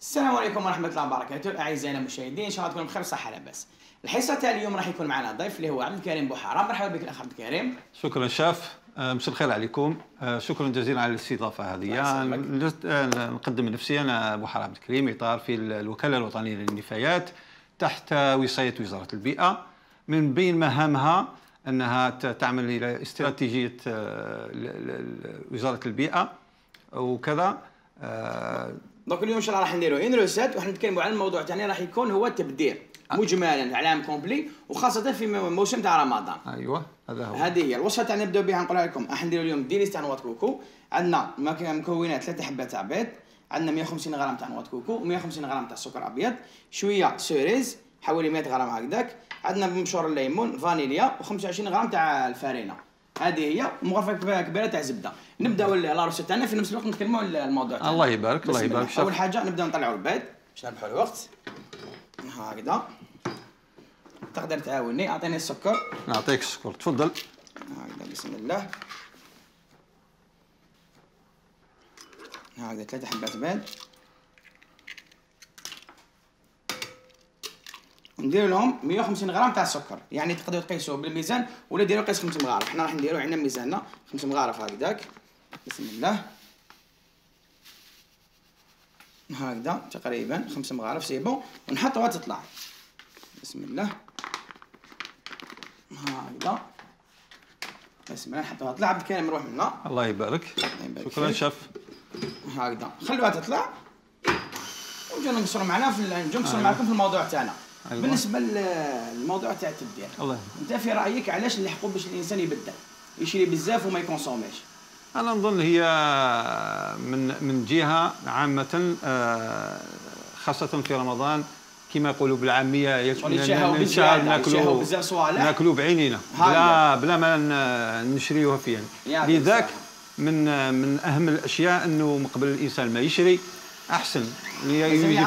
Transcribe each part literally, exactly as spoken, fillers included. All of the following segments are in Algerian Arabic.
السلام عليكم ورحمة الله وبركاته أعزائنا المشاهدين، إن شاء الله تكونوا بخير وصحة لاباس. الحصة تاع اليوم راح يكون معنا ضيف اللي هو عبد الكريم بوحارة. مرحبا بك الأخ عبد الكريم. شكرا شاف، مساء الخير عليكم. شكرا جزيلا على الاستضافة هذه. نقدم نفسي، أنا بوحارة عبد الكريم، إطار في الوكالة الوطنية للنفايات تحت وصاية وزارة البيئة. من بين مهامها أنها تعمل إلى استراتيجية وزارة البيئة وكذا. دونك اليوم ان شاء الله راح نديروا ان روسيت وراح نتكلموا على الموضوع تاعنا، راح يكون هو التبدير مجملا على عام كومبلي وخاصه في موسم تاع رمضان. ايوه هذا هو. هذه هي الوصفه تاع نبداو بها. نقولها لكم راح نديروا اليوم ديليس تاع نواة كوكو. عندنا مكونات ثلاثه حبات تاع بيض، عندنا مئة وخمسين غرام تاع نواة كوكو ومئة وخمسين غرام تاع سكر ابيض، شويه سوريز حوالي مئة غرام هكذاك، عندنا مبشور الليمون، فانيليا وخمسة وعشرين غرام تاع الفارينه. هذه هي مغرفه كبيره تاع زبده. نبداو لاروسيت تاعنا في نفس الوقت نتكلموا على الموضوع تاعنا. الله يبارك الله يبارك. اول حاجه نبداو نطلعوا البيض باش نربحوا الوقت. هكذا تقدر تعاوني، اعطيني السكر. نعطيك السكر تفضل. هكذا بسم الله. هكذا ثلاثه حبات بيض نديروا لهم مئة وخمسين غرام تاع السكر، يعني تقدروا تقيسوه بالميزان ولا ديروا قيس خمس مغارف. حنا راح نديروا عندنا ميزاننا خمس مغارف هكذاك. بسم الله. هكذا تقريبا خمس مغارف سي بون، ونحطوها تطلع. بسم الله. هكذا بسم الله نحطوها تطلع. عبد الكريم نروح منا. الله يبارك. شكرا شاف. هكذا خلوها تطلع ونجيو نقصروا معنا في نجيو نقصروا معكم في الموضوع تاعنا. أيوة. بالنسبه للموضوع تاع التبديل، الله انت في رايك علاش نلحقوا باش الانسان يبدل يشري بزاف وما يكونسوميش؟ انا نظن هي من من جهه عامه، خاصه في رمضان كما يقولوا بالعاميه ناكلوا بزاف صوالح، ناكلوا بعينينا بلا بلا ما نشريوها فيها. لذاك من من اهم الاشياء انه من قبل الانسان ما يشري احسن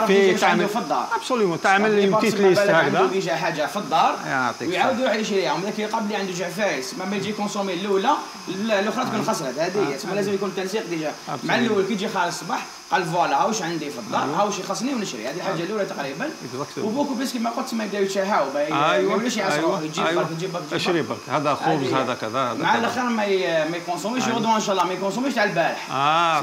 في تعمل في الدار. ابسوليومون تعمل لي بتيت ليست هكذا، عنده ديجا حاجه في الدار ويعاود يروح يشريها. ومن ذاك قبل عنده جعفايس ما يجي كونسومي الاولى الاخرى تكون خسرت. هذه هي تسمى لازم يكون التنسيق ديجا مع الاول. كي يجي خالص الصباح قال فوالا هاوش عندي في الدار، هاوش يخصني ونشري. هذه الحاجه الاولى تقريبا. وبوكو بس كما قلت ما يبداو يتشهاو ما يولوش يعصروا يجيب برك يجيب برك اشري برك هذا خبز هذا كذا مع الاخر ما ما يكونسوميش يغدو ان شاء الله ما يكونسوميش تاع البارح،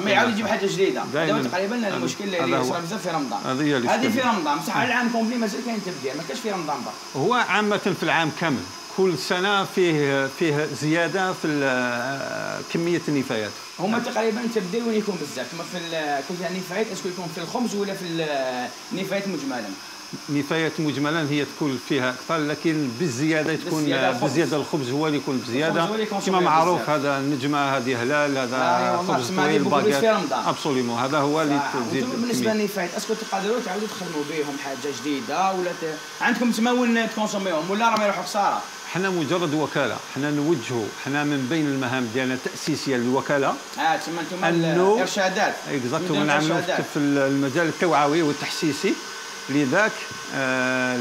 ما يعاود يجيب حاجه جديده. هذا تقريبا المشكل اللي يصير بزاف في رمضان. هذه في رمضان بصح العام كومبلي مازال كاين تبديل، ما كاش في رمضان برك. هو عامه في العام كامل كل سنه فيه فيه زياده في كميه النفايات. هما تقريبا التبديل وين يكون بزاف؟ كما في كل النفايات اسكو يكون في الخبز ولا في النفايات مجملا؟ نفايات مجملا هي تكون فيها اكثر، لكن بالزياده تكون بزياده الخبز هو اللي يكون بزياده كما معروف. هذا النجمه هذه هلال هذا خبز طويل باكيت ابسوليومون هذا هو اللي تزيد. بالنسبه للنفايات اسكو تقدروا تعاودوا تخدموا بهم حاجه جديده ولا ت... عندكم تما وين تكونسوميهم ولا راهم يروحوا خساره؟ حنا مجرد وكاله، حنا نوجهوا، حنا من بين المهام ديالنا التاسيسيه للوكاله اه تما انتم الارشادات اكزاكتومون نعملوا في المجال التوعوي والتحسيسي. لذاك آه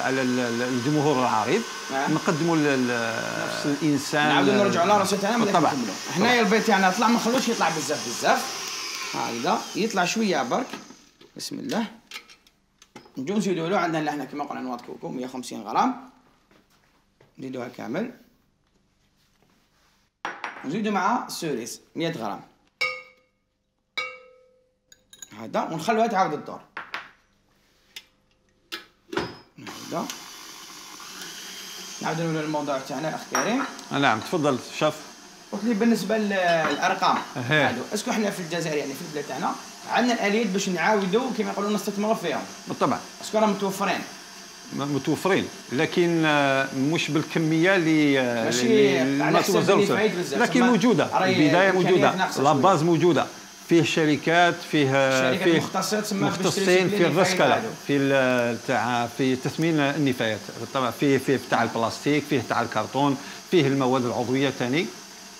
على الجمهور العريض آه. نقدموا لنفس الانسان. نعاودوا نرجعوا لراسنا تاعنا طبعا. حنايا البيض تاعنا طلع ما نخلوش يطلع بزاف بزاف. هكذا يطلع شويه برك. بسم الله. نجيو نزيدوا له عندنا لحنا كما قلنا نواة كوكو مئة وخمسين غرام نزيدوها كامل. نزيدوا مع السوريس مئة غرام هذا ونخلوها تعاود الدور. هكذا نعاودوا للموضوع تاعنا الاخ كريم. نعم تفضل شاف. قلت لي بالنسبه للارقام هادو اسكو حنا في الجزائر يعني في البلاد تاعنا عندنا الاليات باش نعاودوا كما يقولوا نستثمروا فيهم؟ بالطبع. اسكو راهم متوفرين؟ متوفرين لكن مش بالكميه اللي ماشي ما توزعوش، لكن موجوده البدايه موجوده لاباز موجوده. فيه شركات فيه شركات فيه مختصين في الرسكله في تاع في تثمين النفايات. طبعا فيه فيه تاع البلاستيك، فيه تاع الكرتون، فيه المواد العضويه ثاني.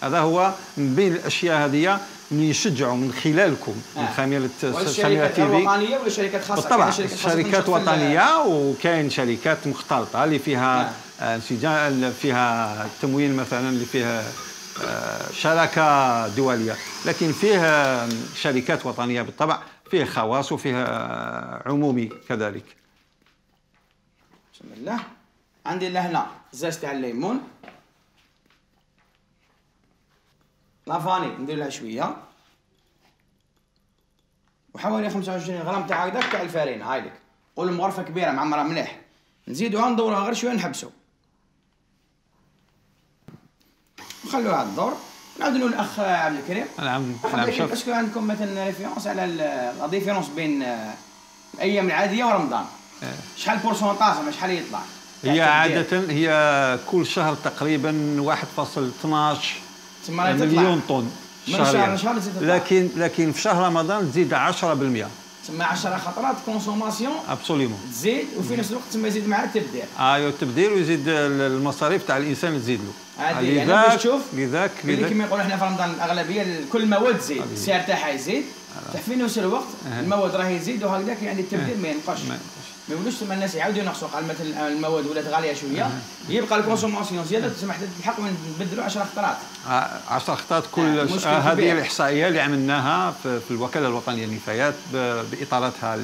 هذا هو من بين الاشياء هذه اللي نشجعوا من خلالكم من آه. خميله الشركات تي في. وطنيه ولا شركات خاصه؟ بالطبع شركات وطنيه وكاين شركات مختلطه اللي فيها انسجام آه. فيها تمويل مثلا اللي فيها شراكه دوليه، لكن فيه شركات وطنيه بالطبع فيه خواص وفيه عمومي كذلك. بسم الله. عندي لهنا زاز تاع الليمون، لافاني ندير لها شويه، وحوالي خمسة وعشرين غرام تاع هكذاك تاع الفارينه. هاي لك قول مغرفه كبيره معمره مليح، نزيدوها ندوروها غير شويه نحبسو نخلوها تدور. نعاود نقول الاخ عبد الكريم. نعم نعم. شوف اسكو عندكم مثلا ريفيرونس على لا ديفيرونس بين الايام العاديه ورمضان؟ شحال البورسونتاج شحال يطلع؟ هي عاده هي كل شهر تقريبا واحد فاصلة اثناش مليون طن شهريا، لكن لكن في شهر رمضان تزيد عشرة بالمئة. تسمى عشرة خطرات كونسوماسيون ابسوليمون تزيد، وفي نفس الوقت تسمى يزيد معها التبديل. ايوا التبديل ويزيد المصاريف تاع الانسان تزيد له. لذاك تشوف لذاك اللي كما يقولوا احنا في رمضان الاغلبيه كل المواد تزيد، السعر تاعها يزيد، في نفس الوقت المواد راهي يزيد وهكذاك، يعني التبديل ما ينقصش. ما يقولوش ثم الناس يعاودوا ينقصوا، قال مثلا المواد ولات غاليه شويه يبقى الكونسوماسيون زياده، تسمح الحق نبدلوا عشرة خطرات. عشرة خطرات كل آه هذه الاحصائيه اللي عملناها في, في الوكاله الوطنيه للنفايات باطاراتها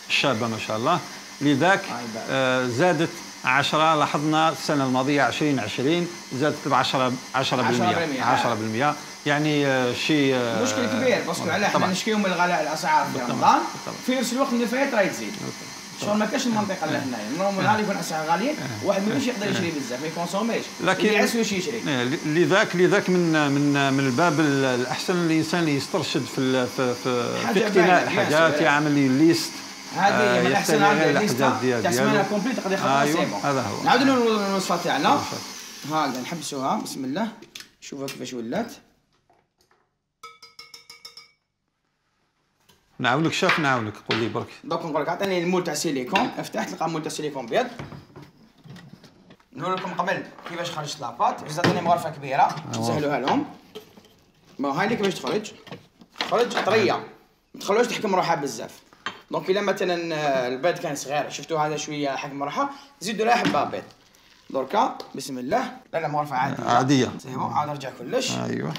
الشابه ما شاء الله. لذاك آه زادت عشرة، لاحظنا السنه الماضيه عشرين عشرين زادت ب عشرة عشرة بالمئة عشرة بالمئة، يعني آه شيء آه مشكل كبير. باسكو علاه احنا نشكيو من الغلاء الاسعار في رمضان، في نفس الوقت النفايات راهي تزيد. شغل ما كاش المنطقه اللي هنايا نورمال غالي يكون اسعار غاليين، واحد ما يقدر يشري بزاف ما يكونسوميش، لكن اللي يعس واش يشري. لذاك لذاك من من من الباب الاحسن الانسان يسترشد في في في اقتناء الحاجات، يعمل ليست. هذه من الاحسن عندنا الليست تاع سمانه كومبليت تقدر ياخذها سي بون. هذا هو. نعاودوا نقولوا الوصفه تاعنا هكذا نحبسوها. بسم الله. شوفوا كيفاش ولات. نعاونك شاف نعاونك قول لي برك. دوك نقول لك عطيني المول تاع سيليكون، افتح تلقى مول تاع سيليكون ابيض. نقول لكم قبل كيفاش خرجت لاباط، جات عطيني مغرفه كبيره نسهلوها لهم. ما هاي اللي كيفاش تخرج، تخرج طريه ما تخلوش تحكم روحها بزاف. دونك الا مثلا البيض كان صغير شفتوا هذا شويه حكم روحها، زيدوا لها حبه بيض. دركا بسم الله. لا لا مغرفه عاديه عاديه سي بون. عاد نرجع كلش. ايوه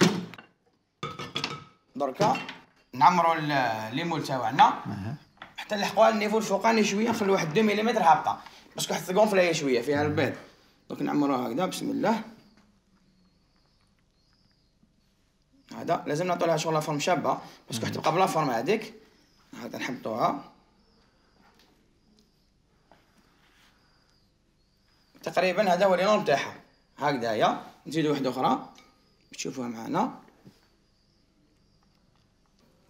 دركا نعمروا الليمول تاعنا حتى نلحقوها النيفو الفوقاني شويه، نخلوا واحد اثنين ملم هابطه باسكو حتى تقونفل هي شويه فيها البيض. دونك نعمروها هكذا بسم الله. هذا لازم نعطوا لها شغل فورم شابه باسكو حتى تبقى بلا فورم هذيك. هذا نحطوها تقريبا، هذا هو اللون تاعها هكذايا. نزيدوا واحده اخرى تشوفوها معنا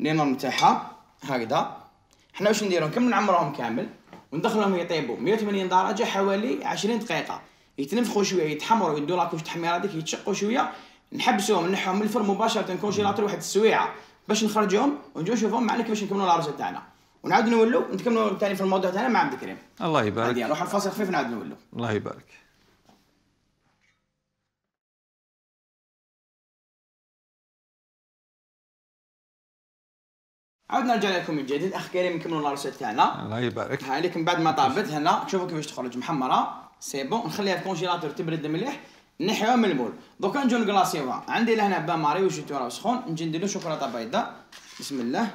اللون تاعها هكذا. حنا واش نديرو نكمل نعمروهم كامل وندخلهم يطيبوا مئة وثمانين درجه حوالي عشرين دقيقه، يتنفخوا شويه يتحمروا يدوا لاكوش تحميره هذيك يتشقوا شويه، نحبسوهم نحهم من الفرن مباشره كونجيلاتور واحد السويعه باش نخرجوهم ونجيو نشوفوهم معنا كيفاش نكملوا العروسه تاعنا، ونعاود نولوا نكملوا ثاني في الموضوع تاعنا مع عبد الكريم. الله يبارك. هادي نروح الفاصل خفيف نعاود نولوا. الله يبارك. عاودنا نرجع لكم من جديد. اخ كريم نكملوا العروسه تاعنا. الله يبارك. هاي لكن بعد ما طابت هنا شوفوا كيفاش تخرج محمره سي بون. نخليها في الكونجيلاتور تبرد مليح، نحيوها من المول. دوكا نجيو نكلاصيوها. عندي لهنا بان ماري وجيتو راه سخون، نجي ندير له شوكولاته بيضاء. بسم الله.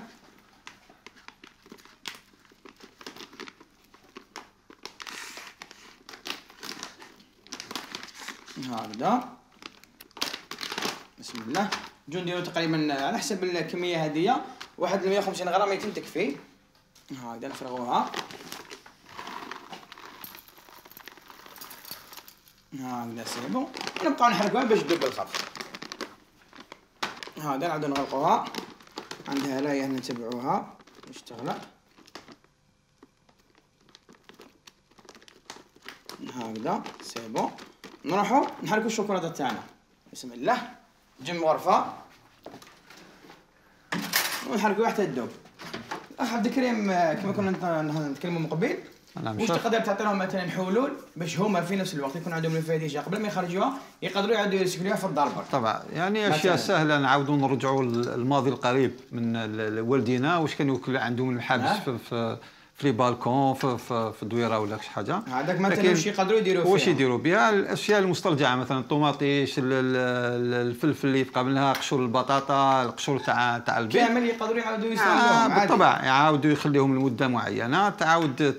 هكذا بسم الله. نجيو نديرو تقريبا على حسب الكميه هذيا واحد مئة وخمسين غرام يتم تكفي. هكذا نفرغوها هكذا سي بون. نبقاو نحركوها باش تذوب بالخف. هذا نعاودو نغلقوها. عندها هنايا نتبعوها باش تغلق هكذا سي بون. نروحو نحركو الشوكولاته تاعنا. بسم الله. نجي من غرفه ونحركوها حتى تذوب. الاخ عبد الكريم كما كنا نتكلموا من قبل، واش تقدر تعطي لهم مثلا حلول باش هما في نفس الوقت يكون عندهم الفاديجه قبل ما يخرجوها يقدروا يعاودوا يسكلوها في الدار برك؟ طبعا يعني اشياء سهله. نعاودوا نرجعوا للماضي القريب من والدينا واش كانوا عندهم الحبس في, في في لي بالكون في, في, في الدويره ولا شي حاجه. هذاك مثلا واش يقدروا يديروا فيها؟ واش يديروا بها الاشياء المسترجعه مثلا الطوماطيش الفلفل اللي يبقى منها قشور البطاطا القشور تاع تاع البيض كامل يقدروا يعاودوا يستعملوهم. آه بالطبع يعاودوا يخليهم لمده معينه تعاود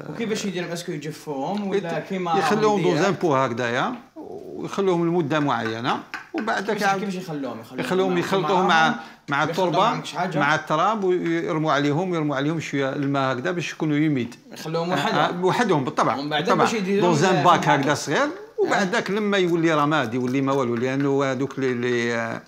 وكيفاش يديروا؟ اسكو يجفوهم ولا كيما يخلوهم دوزان بو هكذايا ويخلوهم لمده معينه وبعد ذاك كيفاش يخلوهم؟ يخلوهم يخلطوهم مع مع التربه مع التراب ويرموا عليهم يرموا عليهم شويه الماء هكذا باش يكونوا يميد. يخلوهم وحدهم وحدهم بالطبع بالطبع دوزان باك هكذا صغير وبعد ذاك لما يولي رماد يولي ما والو لانه هذوك اللي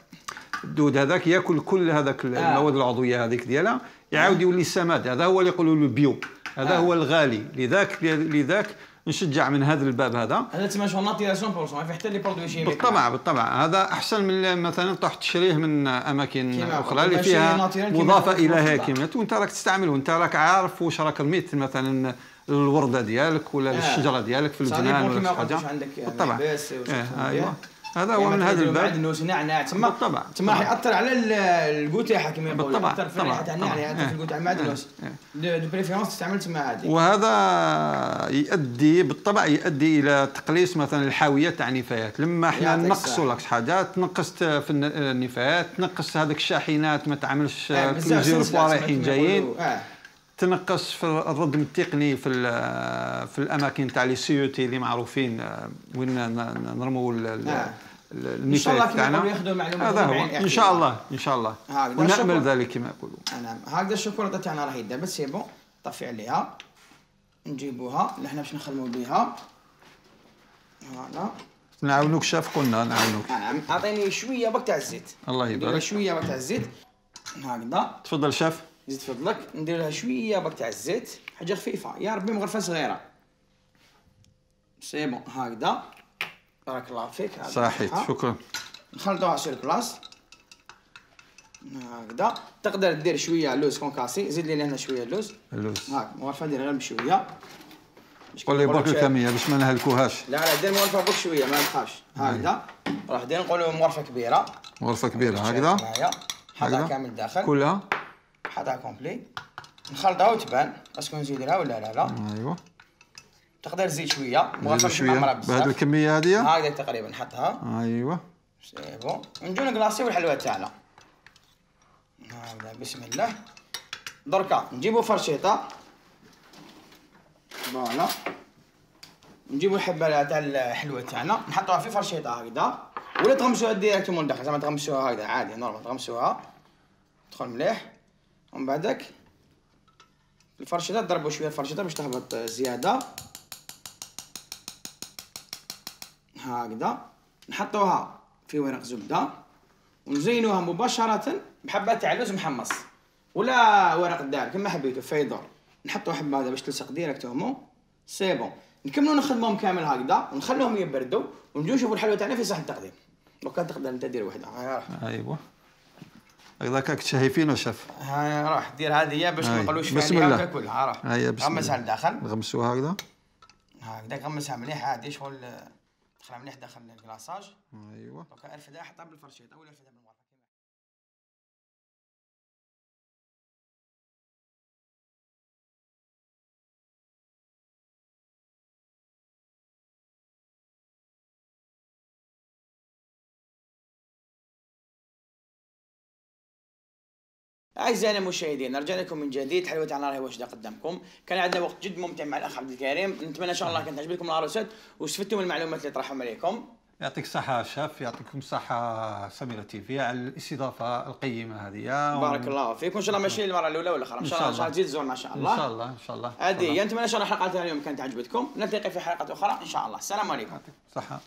الدود هذاك ياكل كل هذاك المواد العضويه هذيك ديالها يعاود يولي سماد. هذا هو اللي يقولوا له بيو. هذا هو الغالي. لذاك لذاك نشجع من هذا الباب هذا. هذا تسمى شو ناتيراسيون بورسون ما في حتى لي برودوي شيميك. بالطبع بالطبع هذا احسن من مثلا تروح تشريه من اماكن اخرى اللي فيها مضافه الى كيماويات وانت راك تستعمله وانت راك عارف واش راك رميت مثلا الورده ديالك ولا الشجره ديالك في الجنان ولا شي حاجه. بالطبع ايوه هذا هو من هذا الباب. معدنوس نعناع تما بالطبع تما راح ياثر على القوتيحه كما يقولوا. بالطبع ياثر في الريحه تاع النعناع ياثر في القوت تاع المعدنوس. دو بريفيرونس تستعمل تما هذه. وهذا يؤدي بالطبع يؤدي الى تقليص مثلا الحاويه تاع النفايات. لما احنا نقصوا لك حاجه تنقصت في النفايات تنقص هذيك الشاحنات ما تعملش بليزيور فوا رايحين جايين تنقص في الردم التقني في في الاماكن تاع لي سيوتي اللي معروفين وين نرموا النفايات تاعنا. هذا هو ان شاء الله ان شاء الله ونامل ذلك كما يقولوا. نعم هكذا الشوكولاته تاعنا راهي دابا سي بون طفي عليها نجيبوها اللي حنا باش نخدموا بها. فوالا نعاونوك شاف قلنا نعاونوك. نعم اعطيني شويه برك تاع الزيت. الله يبارك شويه برك تاع الزيت هكذا. تفضل شاف. زيد فضلك ندير لها شويه برك تاع الزيت حاجه خفيفه يا ربي مغرفه صغيره. سي بون هكذا بارك الله فيك. صحيت شكرا. نخلطوها سير بلاص هكذا. تقدر دير شويه لوز كونكاسي زيد لي هنا شويه لوز. اللوز هاك مغرفه دير غير بشويه. قول لي برك الكميه باش ما نهلكوهاش. لا لا دير مغرفه برك شويه ما تخافش. هكذا راح دير نقولوا مغرفه كبيره. مغرفه كبيره هكذا. حطها كامل داخل. كلها. حطها كومبلي. نخلطها وتبان اسكو نزيدها ولا لا لا. ايوا تقدر تزيد شويه مغرفه شويه بهذه الكميه هذه هكذا تقريبا نحطها. ايوا سي بون نجيو نكلاصيو الحلوى تاعنا هكذا بسم الله. دركا نجيبو فرشيطه فوالا نجيبو الحبه تاع الحلوى تاعنا نحطوها في فرشيطه هكذا ولا تغمسوها ديريكتومون داخل زعما تغمسوها هكذا عادي نورمال تغمسوها تدخل مليح ومن بعدك الفرشيطه تضربوا شويه الفرشيطه باش تهبط زياده هكذا. نحطوها في ورق زبده ونزينوها مباشره بحبه تاع لوز محمص ولا ورق الدار كما حبيتو فيدور. نحطوا حبه هذا باش تلصق ديريكتومون سي بون. نكملوا نخدمهم كامل هكذا ونخلوهم يبردوا ونجيو نشوفوا الحلوى تاعنا في صحن التقديم. لو كان تقدر انت دير وحده. ايوا هكذاك راك تشهيفين شاف. ها راح دير هذه باش ما نقولوش فيها هكا كلها راه. هيا بسم الله. غمسها لداخل. نغمسوها هكذا. هكذا غمسها مليح عادي شغل دخلها مليح داخل الكلاصاج. ايوا لو كان ارفدها حطها بالفرشيطه ولا ارفدها بالمغرفه. اعزائنا المشاهدين نرجع لكم من جديد. حلوة تاعنا راهي واجده قدامكم. كان عندنا وقت جد ممتع مع الاخ عبد الكريم. نتمنى ان شاء الله كانت تعجبكم العروسات واستفدتوا من المعلومات اللي طرحهم عليكم. يعطيك الصحة شاف يعطيكم الصحة سميرة تيفي على الاستضافة القيمة هذه. بارك الله فيكم. ان شاء الله ماشي المرة الأولى ولا الأخرى. ان شاء الله ان شاء الله تزيد تزورنا ان شاء الله. ان شاء الله ان شاء الله. هذه نتمنى ان شاء الله حلقتنا اليوم كانت عجبتكم. نلتقي في حلقات أخرى ان شاء الله. السلام عليكم. يعطيك الصحة.